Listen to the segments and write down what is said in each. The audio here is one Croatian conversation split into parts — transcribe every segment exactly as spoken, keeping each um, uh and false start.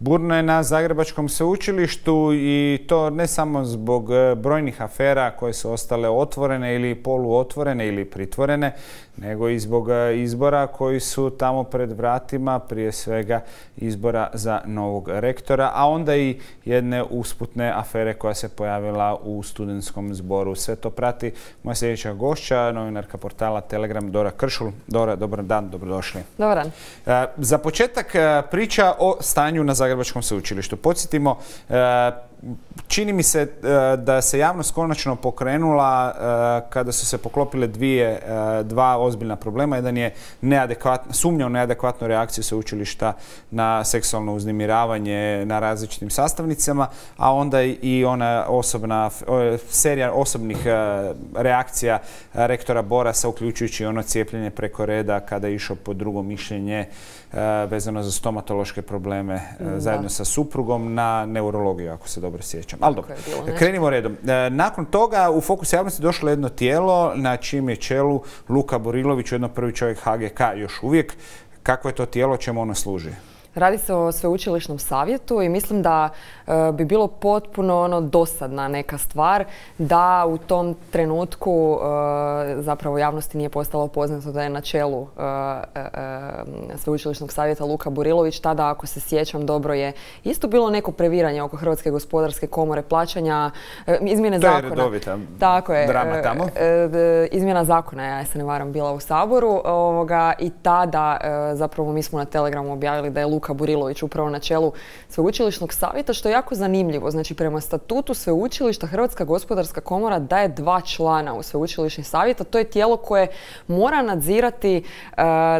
Burno je na Zagrebačkom sveučilištu i to ne samo zbog brojnih afera koje su ostale otvorene ili poluotvorene ili pritvorene, nego i zbog izbora koji su tamo pred vratima, prije svega izbora za novog rektora, a onda i jedne usputne afere koja se pojavila u studentskom zboru. Sve to prati moja sljedeća gošća, novinarka portala Telegram, Dora Kršul. Dora, dobar dan, dobrodošli. Dobar dan. Za početak priča o stanju na Zagrebačkom sveučilištu. Podsjetimo, čini mi se da se javnost konačno pokrenula kada su se poklopile dvije, dva ozbiljna problema. Jedan je sumnja u neadekvatnu reakciju sveučilišta na seksualno uznemiravanje na različitim sastavnicama, a onda i ona osobna serija osobnih reakcija rektora Borasa, uključujući ono cijepljenje preko reda kada je išao po drugo mišljenje vezano za stomatološke probleme da. zajedno sa suprugom na neurologiju, ako se dobro sjećam. Ali dobro, krenimo redom. Nakon toga u fokus javnosti došlo jedno tijelo na čijem je čelu Luka Burilović, ujedno prvi čovjek H G K još uvijek. Kako je to tijelo, čemu ono služi? Radi se o sveučilišnom savjetu i mislim da e, bi bilo potpuno ono dosadna neka stvar da u tom trenutku e, zapravo javnosti nije postalo poznato da je na čelu e, e, sveučilišnog savjeta Luka Burilović. Tada, ako se sjećam dobro, je isto bilo neko previranje oko Hrvatske gospodarske komore, plaćanja, e, izmjene to zakona. To je redovita Tako je, drama tamo. E, e, izmjena zakona, ja se ne varam, bila u Saboru ovoga, i tada e, zapravo mi smo na Telegramu objavili da je Luka Burilović upravo na čelu sveučilišnog savjeta, što je jako zanimljivo. Znači, prema statutu sveučilišta Hrvatska gospodarska komora daje dva člana u sveučilišni savjet, a to je tijelo koje mora nadzirati e,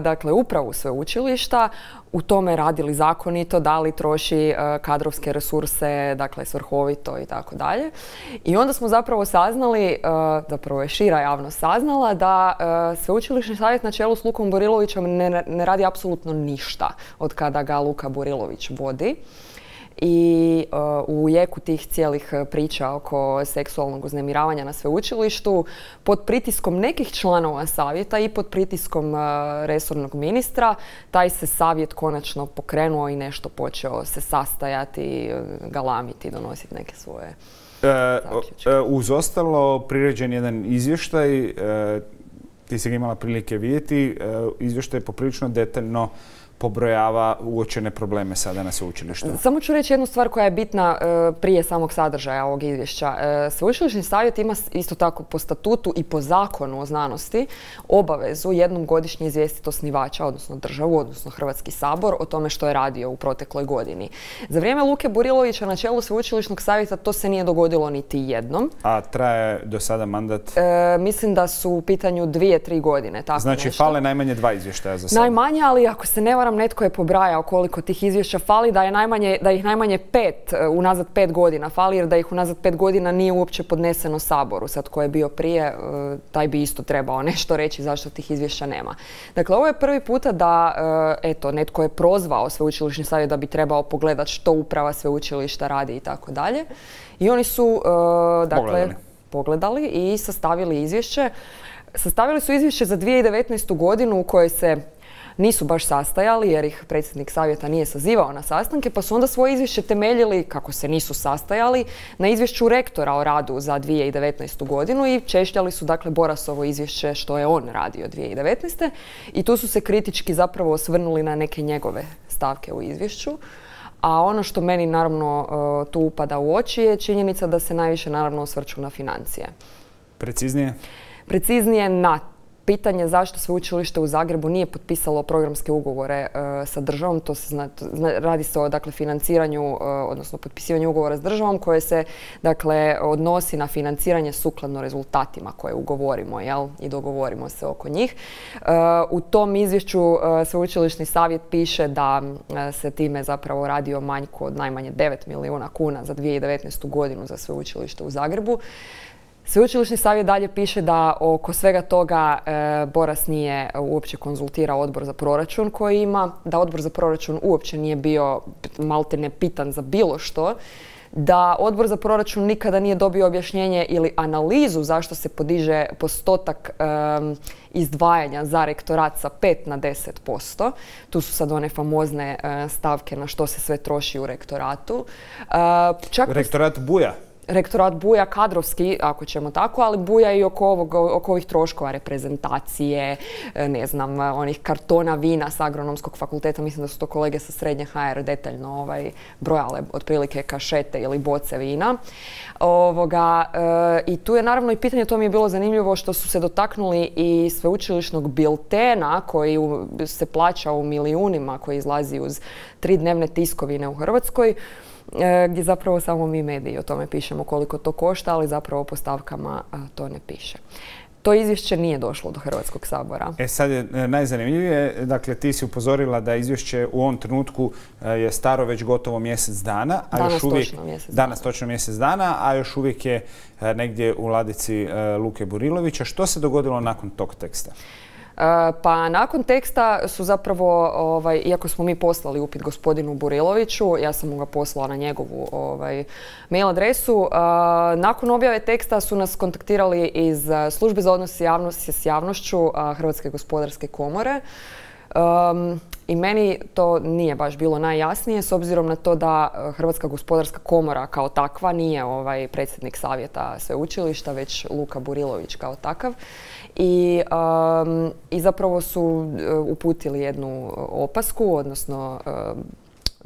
dakle, upravu sveučilišta, u tome radi li zakonito, da li troši e, kadrovske resurse, dakle svrhovito i tako dalje. I onda smo zapravo saznali, e, zapravo je šira javnost saznala, da e, sveučilišni savjet na čelu s Lukom Burilovićem ne, ne radi apsolutno ništa od kada ga Luka Burilović vodi. I uh, u jeku tih cijelih priča oko seksualnog uznemiravanja na sveučilištu, pod pritiskom nekih članova savjeta i pod pritiskom uh, resornog ministra, taj se savjet konačno pokrenuo i nešto počeo se sastajati, galamiti, donositi neke svoje zaključke. E, uz ostalo, priređen jedan izvještaj, e, ti si ga imala prilike vidjeti, e, izvještaj je poprilično detaljno pobrojava uočene probleme sada na sveučilištu. Samo ću reći jednu stvar koja je bitna e, prije samog sadržaja ovog izvješća. E, Sveučilišni savjet ima isto tako po statutu i po zakonu o znanosti obavezu jednom godišnje izvijestiti osnivača, odnosno državu, odnosno Hrvatski sabor, o tome što je radio u protekloj godini. Za vrijeme Luke Burilovića na čelu Sveučilišnog savjeta to se nije dogodilo niti jednom. A traje do sada mandat? E, mislim da su u pitanju dvije, tri godine. Tako znači, nešto. fale najmanje dva izvještaja za sada? Najmanje, ali ako se ne varam, netko je pobrajao koliko tih izvješća fali, da je najmanje, da ih najmanje pet, unazad pet godina fali, jer da ih unazad pet godina nije uopće podneseno Saboru. Sad ko je bio prije, taj bi isto trebao nešto reći zašto tih izvješća nema. Dakle, ovo je prvi puta da, eto, netko je prozvao sveučilišni savjet da bi trebao pogledati što uprava sveučilišta radi i tako dalje. I oni su, dakle, pogledali. pogledali i sastavili izvješće. Sastavili su izvješće za dvije tisuće devetnaestu godinu u kojoj se nisu baš sastajali jer ih predsjednik savjeta nije sazivao na sastanke, pa su onda svoje izvješće temeljili, kako se nisu sastajali, na izvješću rektora o radu za dvije tisuće devetnaestu godinu i češljali su dakle Borasovo izvješće što je on radio dvije tisuće devetnaeste. I tu su se kritički zapravo osvrnuli na neke njegove stavke u izvješću. A ono što meni naravno tu upada u oči je činjenica da se najviše naravno osvrću na financije. Preciznije? Preciznije na pitanje zašto sveučilište u Zagrebu nije potpisalo programske ugovore uh, sa državom. To se zna, zna, radi se o dakle, financiranju, uh, odnosno potpisivanju ugovora s državom koje se dakle, odnosi na financiranje sukladno rezultatima koje ugovorimo, jel? I dogovorimo se oko njih. Uh, u tom izvješću uh, sveučilišni savjet piše da uh, se time zapravo radi o manjku od najmanje devet milijuna kuna za dvije tisuće devetnaestu godinu za sveučilište u Zagrebu. Sveučilišni savjet dalje piše da oko svega toga e, Boras nije uopće konzultirao odbor za proračun koji ima, da odbor za proračun uopće nije bio maltene pitan za bilo što, da Odbor za proračun nikada nije dobio objašnjenje ili analizu zašto se podiže postotak um, izdvajanja za rektorat sa pet na deset posto. Tu su sad one famozne uh, stavke na što se sve troši u rektoratu. Uh, čak Rektorat buja. Rektorat buja kadrovski, ako ćemo tako, ali buja i oko, ovog, oko ovih troškova reprezentacije, ne znam, onih kartona vina s Agronomskog fakulteta. Mislim da su to kolege sa srednje ha er detaljno ovaj, brojale otprilike kašete ili boce vina. Ovoga, e, I tu je naravno i pitanje, to mi je bilo zanimljivo, što su se dotaknuli i sveučilišnog biltena koji u, se plaća u milijunima, koji izlazi uz tri dnevne tiskovine u Hrvatskoj, gdje zapravo samo mi mediji o tome pišemo koliko to košta, ali zapravo po stavkama to ne piše. To izvješće nije došlo do Hrvatskog sabora. E sad je najzanimljivije, dakle ti si upozorila da izvješće u ovom trenutku je staro već gotovo mjesec dana. A danas još uvijek, točno mjesec dana. Danas točno mjesec dana, a još uvijek je negdje u ladici Luke Burilovića. Što se dogodilo nakon tog teksta? Pa nakon teksta su zapravo, ovaj, iako smo mi poslali upit gospodinu Buriloviću, ja sam mu ga poslala na njegovu ovaj, mail adresu, uh, nakon objave teksta su nas kontaktirali iz Službe za odnos javnosti s javnošću uh, Hrvatske gospodarske komore. Um, I meni to nije baš bilo najjasnije, s obzirom na to da Hrvatska gospodarska komora kao takva nije ovaj predsjednik savjeta sveučilišta, već Luka Burilović kao takav. I, um, i zapravo su uh, uputili jednu opasku, odnosno uh,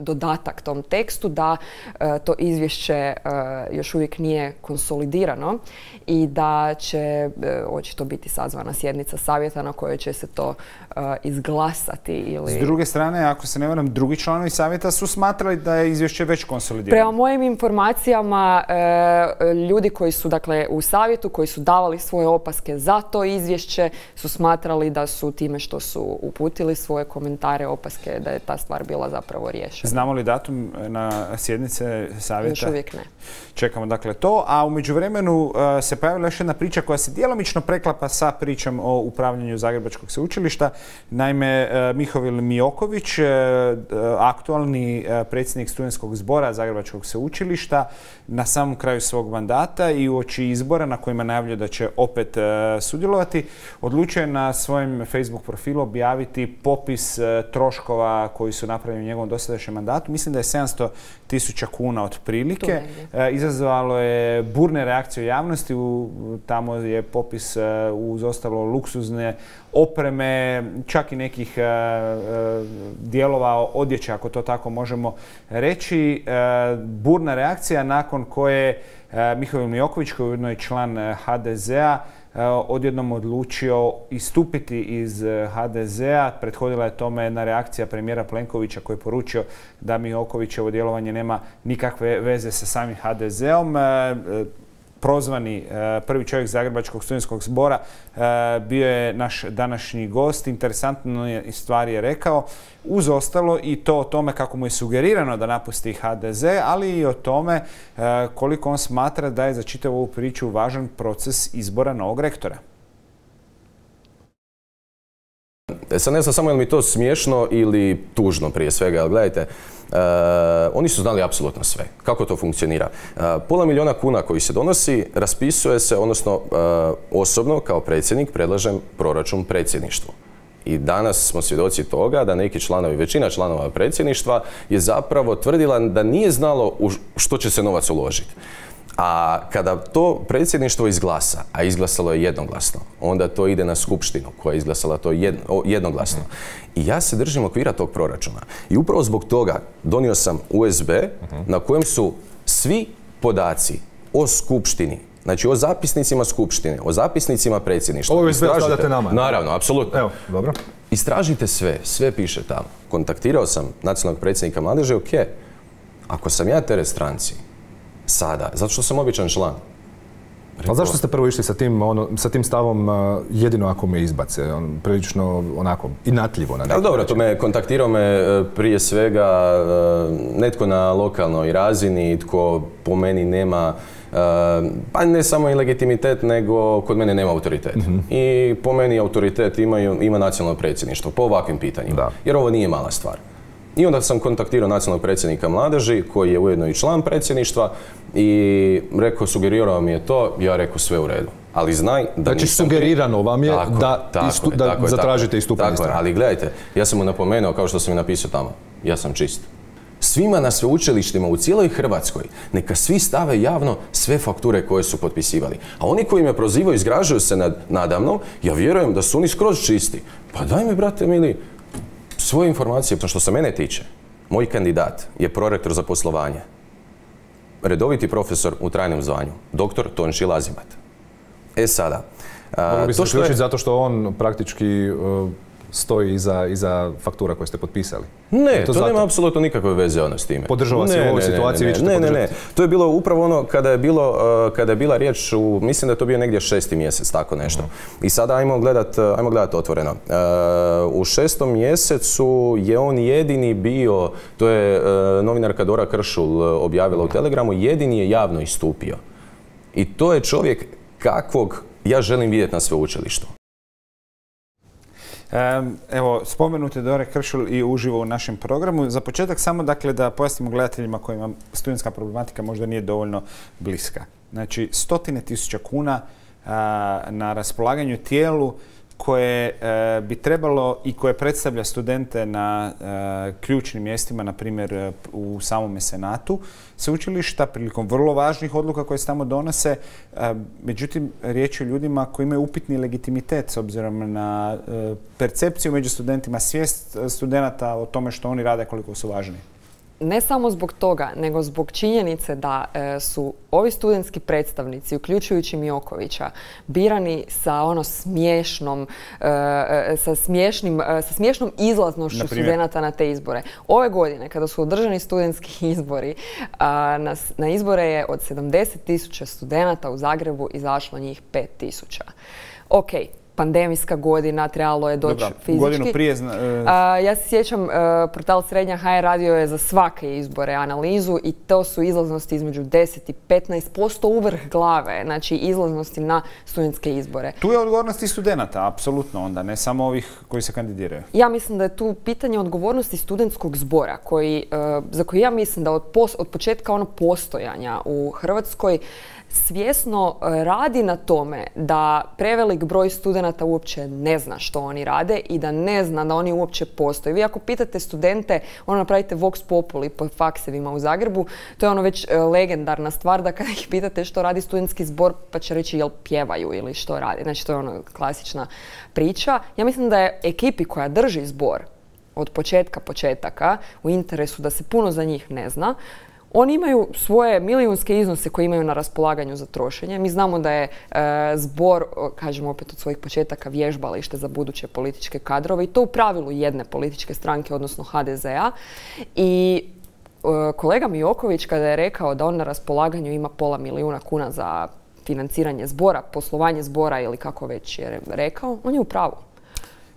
dodatak tom tekstu da uh, to izvješće uh, još uvijek nije konsolidirano i da će uh, očito biti sazvana sjednica savjeta na kojoj će se to uh, izglasati. Ili... S druge strane, ako se ne varam, drugi članovi savjeta su smatrali da je izvješće već konsolidirano. Prema mojim informacijama, uh, ljudi koji su dakle, u savjetu, koji su davali svoje opaske za to izvješće, su smatrali da su time što su uputili svoje komentare, opaske, da je ta stvar bila zapravo riješena. Znamo li datum na sjednice savjeta? Još uvijek ne. Čekamo dakle to, a u međuvremenu uh, se pojavila još jedna priča koja se djelomično preklapa sa pričom o upravljanju Zagrebačkog sveučilišta. Naime, uh, Mihovil Mioković, uh, aktualni uh, predsjednik studentskog zbora Zagrebačkog sveučilišta, na samom kraju svog mandata i uoči izbora na kojima najavljuje da će opet uh, sudjelovati, odlučio je na svojem Facebook profilu objaviti popis uh, troškova koji su napravljeni u njegovom dosadašnjem mandatu. Mislim da je sedamsto tisuća kuna otprilike. E, izazvalo je burne reakcije u javnosti. U, tamo je popis e, uz ostalo luksuzne opreme, čak i nekih e, e, dijelova odjeće, ako to tako možemo reći. E, burna reakcija nakon koje e, Mihovil Mioković, koji je ujedno i član ha de zea, odjednom odlučio istupiti iz ha de zea. Prethodila je tome jedna reakcija premijera Plenkovića koji je poručio da Miokovićevo djelovanje nema nikakve veze sa samim ha de zeom. Prozvani prvi čovjek Zagrebačkog studentskog zbora bio je naš današnji gost. Interesantno stvari je rekao, uz ostalo i to o tome kako mu je sugerirano da napusti ha de ze, ali i o tome koliko on smatra da je za čitavu ovu priču važan proces izbora novog rektora. Sad ne znam samo je li mi to smiješno ili tužno prije svega, ali gledajte, Uh, oni su znali apsolutno sve. Kako to funkcionira? Uh, pola milijuna kuna koji se donosi, raspisuje se, odnosno uh, osobno kao predsjednik predlažem proračun predsjedništvu. I danas smo svjedoci toga da neki članovi, većina članova predsjedništva je zapravo tvrdila da nije znalo u što će se novac uložiti. A kada to predsjedništvo izglasa, a izglasalo je jednoglasno, onda to ide na skupštinu koja je izglasala to jedno, jednoglasno. I ja se držim okvira tog proračuna. I upravo zbog toga donio sam u es be na kojem su svi podaci o skupštini, znači o zapisnicima skupštine, o zapisnicima predsjedništva. Ovo u es be stavljate nama? Naravno, apsolutno. Evo, dobro. Istražite sve, sve piše tamo. Kontaktirao sam nacionalnog predsjednika mladeže, ok, ako sam ja teret stranci, sada, zato što sam običan član. A zašto ste prvo išli sa tim, ono, sa tim stavom uh, jedino ako me izbace? On, prilično onako inatljivo na neki dobro, to me kontaktirao me prije svega uh, netko na lokalnoj razini, tko po meni nema uh, pa ne samo i legitimitet, nego kod mene nema autoritet. Mm-hmm. I po meni autoritet imaju, ima nacionalno predsjedništvo po ovakvim pitanjima. Da. Jer ovo nije mala stvar. I onda sam kontaktirao nacionalnog predsjednika mladeži, koji je ujedno i član predsjedništva, i rekao, sugerirao mi je to, ja rekao sve u redu. Ali znaj da znači, nisam... sugerirano vam je tako, da, tako, istu, je, da tako, zatražite istupanje strane. Ali gledajte, ja sam mu napomenuo, kao što sam i napisao tamo, ja sam čist. Svima na sveučilištima u cijeloj Hrvatskoj neka svi stave javno sve fakture koje su potpisivali. A oni koji me prozivaju i zgražaju se nad, nadamnom, ja vjerujem da su oni skroz čisti. Pa daj mi, brate mili, svoje informacije. Što se mene tiče, moj kandidat je prorektor za poslovanje. Redoviti profesor u trajnom zvanju, doktor Tonči Lazibat. E sada... Mogu bi se zaključiti zato što on praktički uh, stoji iza, iza faktura koje ste potpisali. Ne, to, to nema apsolutno nikakve veze ono s time. Podržava se u ovoj situaciji, vi ćete ne, ne, podržati. ne, to je bilo upravo ono kada je, bilo, uh, kada je bila riječ u, mislim da je to bio negdje šesti mjesec, tako nešto. Uh-huh. I sada ajmo gledat, ajmo gledat otvoreno. Uh, u šestom mjesecu je on jedini bio, to je uh, novinarka Dora Kršul objavila u Telegramu, jedini je javno istupio. I to je čovjek kakvog ja želim vidjeti na sveučilištu. Evo, spomenute Dore Kršul i uživo u našem programu. Za početak samo dakle da pojasnimo gledateljima kojima studentska problematika možda nije dovoljno bliska. Znači, stotine tisuća kuna a, na raspolaganju tijelu koje e, bi trebalo i koje predstavlja studente na e, ključnim mjestima, na primjer u samome senatu sveučilišta, prilikom vrlo važnih odluka koje se tamo donose. E, međutim, riječ je o ljudima koji imaju upitni legitimitet s obzirom na e, percepciju među studentima, svijest studenata o tome što oni rade, koliko su važni. Ne samo zbog toga, nego zbog činjenice da e, su ovi studentski predstavnici, uključujući Miokovića, birani sa ono smiješnom, e, sa, smiješnim, e, sa smiješnom izlaznošću studenata na te izbore. Ove godine, kada su održani studentski izbori, a, na, na izbore je od sedamdeset tisuća studenata u Zagrebu izašlo njih pet tisuća. Ok. Pandemijska godina, trebalo je doći Dobra, fizički. Godinu prije... Zna, uh, ja se sjećam, uh, portal Srednja H R radio je za svake izbore analizu i to su izlaznosti između deset i petnaest posto u vrh glave, znači izlaznosti na studentske izbore. Tu je odgovornost i studenata, apsolutno onda, ne samo ovih koji se kandidiraju. Ja mislim da je tu pitanje odgovornosti studentskog zbora, koji, uh, za koji ja mislim da od, pos, od početka ono postojanja u Hrvatskoj svjesno radi na tome da prevelik broj studenata uopće ne zna što oni rade i da ne zna da oni uopće postoje. Vi ako pitate studente, ono napravite Vox Populi po faksevima u Zagrebu, to je ono već legendarna stvar da kada ih pitate što radi studentski zbor, pa će reći jel pjevaju ili što radi. Znači to je ono klasična priča. Ja mislim da je ekipi koja drži zbor od početka početaka u interesu da se puno za njih ne zna. Oni imaju svoje milijunske iznose koje imaju na raspolaganju za trošenje. Mi znamo da je e, zbor, kažemo opet od svojih početaka, vježbalište za buduće političke kadrove i to u pravilu jedne političke stranke, odnosno H D Z-a. I e, kolega Mioković kada je rekao da on na raspolaganju ima pola milijuna kuna za financiranje zbora, poslovanje zbora ili kako već je rekao, on je u pravu.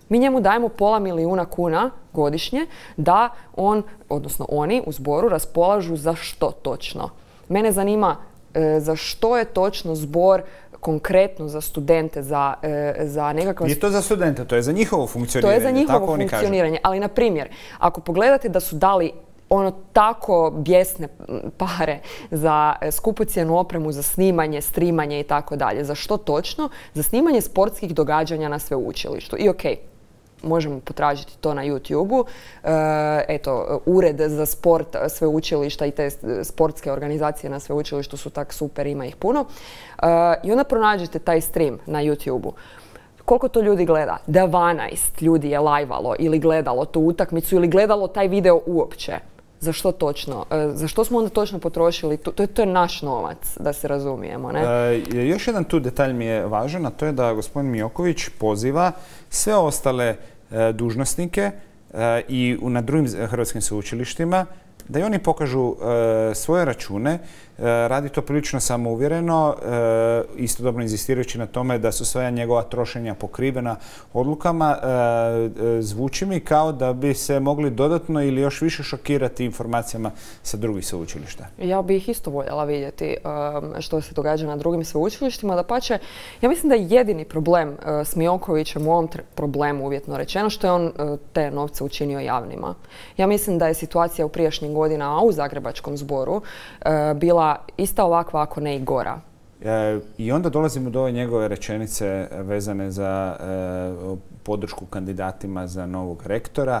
Mi njemu dajemo pola milijuna kuna godišnje da on, odnosno oni u zboru raspolažu za što točno. Mene zanima e, za što je točno zbor konkretno za studente, za, e, za nekakva... Nije to za studente, to je za njihovo funkcioniranje. To je za njihovo funkcioniranje. Ali, na primjer, ako pogledate da su dali ono tako bijesne pare za skupocjenu opremu, za snimanje, streamanje i tako dalje. Za što točno? Za snimanje sportskih događanja na sveučilištu. I okej, možemo potražiti to na YouTube-u. E, eto, ured za sport sveučilišta i te sportske organizacije na sveučilištu su tak super, ima ih puno. E, I onda pronađete taj stream na YouTube-u. Koliko to ljudi gleda? dvanaest ljudi je lajvalo ili gledalo tu utakmicu ili gledalo taj video uopće. Za što točno? E, za što smo onda točno potrošili? To, to, to je naš novac, da se razumijemo, ne? E, još jedan tu detalj mi je važan, a to je da gospodin Mioković poziva sve ostale e, dužnosnike e, i na drugim hrvatskim sveučilištima da i oni pokažu e, svoje račune radi to prilično samouvjereno, istodobno inzistirajući na tome da su sva njegova trošenja pokrivena odlukama. Zvuči mi kao da bi se mogli dodatno ili još više šokirati informacijama sa drugih sveučilišta. Ja bih isto voljela vidjeti što se događa na drugim sveučilištima. Dapače, ja mislim da je jedini problem s Miokovićem u ovom problemu, uvjetno rečeno, što je on te novce učinio javnima. Ja mislim da je situacija u prijašnjim godinama, a u Zagrebačkom zboru, bila ista ovakva, ako ne i gora. I onda dolazimo do ove njegove rečenice vezane za podršku kandidatima za novog rektora.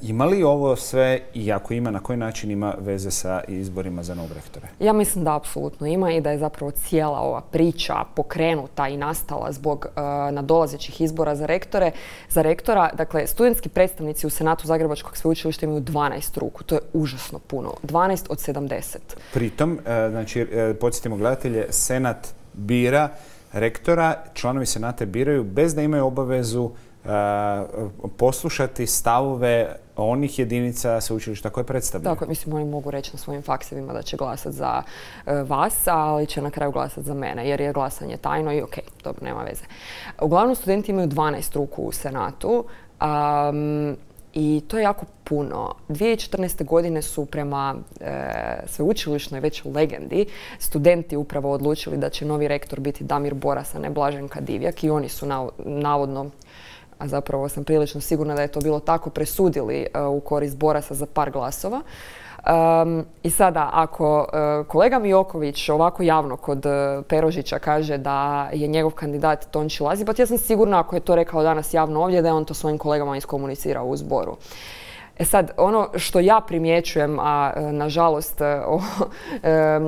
Ima li ovo sve, i ako ima, na koji način ima veze sa izborima za novog rektora? Ja mislim da apsolutno ima i da je zapravo cijela ova priča pokrenuta i nastala zbog nadolazećih izbora za rektore. Za rektora, dakle, studentski predstavnici u Senatu Zagrebačkog sveučilišta imaju dvanaest ruku. To je užasno puno. dvanaest od sedamdeset. Pritom, znači, podsjetimo gledatelje, Senat bira rektora, članovi Senata biraju bez da imaju obavezu poslušati stavove onih jedinica sveučilišta koje predstavljaju. Tako, mislim, oni mogu reći na svojim faksevima da će glasati za vas, ali će na kraju glasati za mene, jer je glasanje tajno i okej, dobro, nema veze. Uglavnom, studenti imaju dvanaest ruku u Senatu. Um, I to je jako puno. dvije tisuće četrnaeste. godine su prema e, sveučilišnoj već legendi studenti upravo odlučili da će novi rektor biti Damir Boras, a ne Blaženka Divjak, i oni su navodno, a zapravo sam prilično sigurna da je to bilo tako, presudili e, u korist Borasa za par glasova. Um, I sada, ako uh, kolega Mioković ovako javno kod uh, Perožića kaže da je njegov kandidat Tonči Lazibat, ja sam sigurna, ako je to rekao danas javno ovdje, da je on to svojim kolegama iskomunicirao u zboru. E sad, ono što ja primjećujem, a nažalost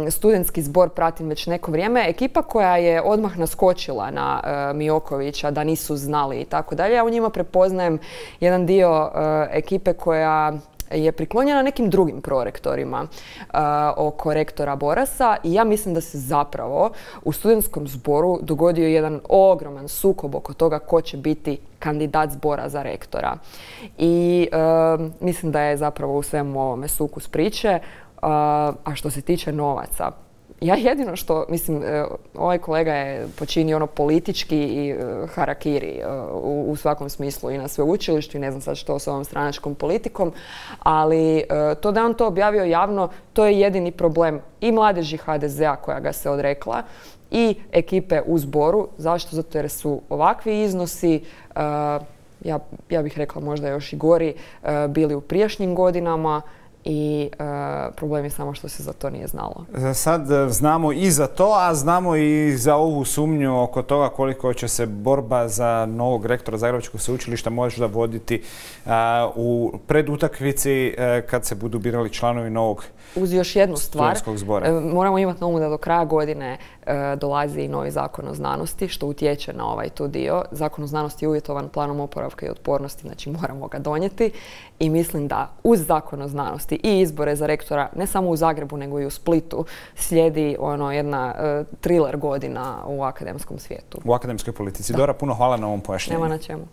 studentski zbor pratim već neko vrijeme, ekipa koja je odmah naskočila na Miokovića da nisu znali i tako dalje, ja u njima prepoznajem jedan dio ekipe koja je priklonjena nekim drugim prorektorima uh, oko rektora Borasa, i ja mislim da se zapravo u studentskom zboru dogodio jedan ogroman sukob oko toga ko će biti kandidat zbora za rektora. I uh, mislim da je zapravo u svemu ovome sukus priče. Uh, a što se tiče novaca, ja jedino što, mislim, ovaj kolega je počinio ono politički i harakiri u, u svakom smislu i na sveučilištu, i ne znam sad što s ovom stranačkom politikom, ali to da je on to objavio javno, to je jedini problem i mladeži ha de zea koja ga se odrekla i ekipe u zboru. Zašto? Zato jer su ovakvi iznosi, ja, ja bih rekla možda još i gori, bili u prijašnjim godinama. I uh, problem je samo što se za to nije znalo. Sad znamo i za to, a znamo i za ovu sumnju oko toga koliko će se borba za novog rektora Zagrebačkog sveučilišta možda voditi uh, u predutakmici uh, kad se budu birali članovi novog Uz još jednu stvar, zbora. Moramo imati na umu da do kraja godine uh, dolazi i novi zakon o znanosti, što utječe na ovaj tu dio. Zakon o znanosti je uvjetovan planom oporavka i otpornosti, znači moramo ga donijeti, i mislim da uz zakon o znanosti i izbore za rektora, ne samo u Zagrebu nego i u Splitu, slijedi ono jedna uh, thriller godina u akademskom svijetu. U akademskoj politici. Da. Dora, puno hvala na ovom pojašnjenju. Nema na čemu.